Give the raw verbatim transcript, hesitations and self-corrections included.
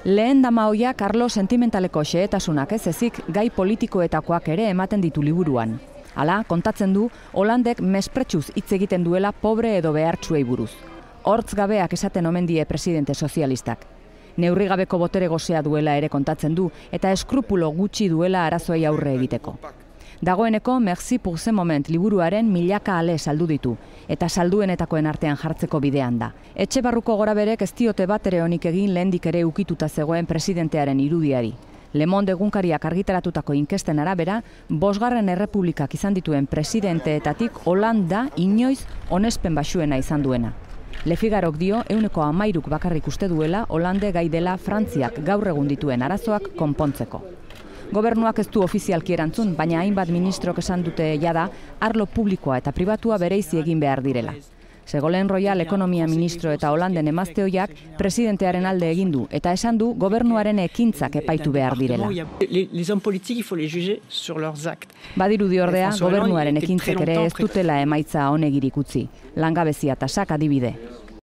Lehen dama hoiak arlo sentimentaleko xehetasunak ez ezik gai politikoetakoak ere ematen ditu liburuan. Hala, kontatzen du, Holandek mespretsuz hitz egiten duela pobre edo behartsuei buruz. Hortz gabeak esaten omen die presidente sozialistak. Neurrigabeko botere gozea duela ere kontatzen du eta eskrupulo gutxi duela arazoei aurre egiteko. Dagoeneko Merci pour ce moment liburuaren milaka ale saldu ditu eta salduenetakoen artean jartzeko bidean da. Etxe barruko goraberek ez diote bat ere onik egin lehendik ere ukituta zegoen presidentearen irudiari. Le Monde egunkariak argitaratutako inkesten arabera, bosgarren errepublikak izan dituen presidenteetatik Holanda inoiz onespen baxuena izan duena. Le Figarok dio ehuneko hamairuk bakarrik uste duela Holande gai dela Frantziak gaur egun dituen arazoak konpontzeko. Gobernuak ez du ofizialki erantzun, baina hainbat ministrok esan dute jada arlo publikoa eta pribatua bereizi egin behar direla. Ségolène Royal ekonomia ministro eta Holanden emazte ohiak presidentearen alde egin du eta esan du gobernuaren ekintzak epaitu behar direla. Badirudi ordea, gobernuaren ekintzek ere ez dutela emaitza onegirik utzi. Langabezia tasak adibide.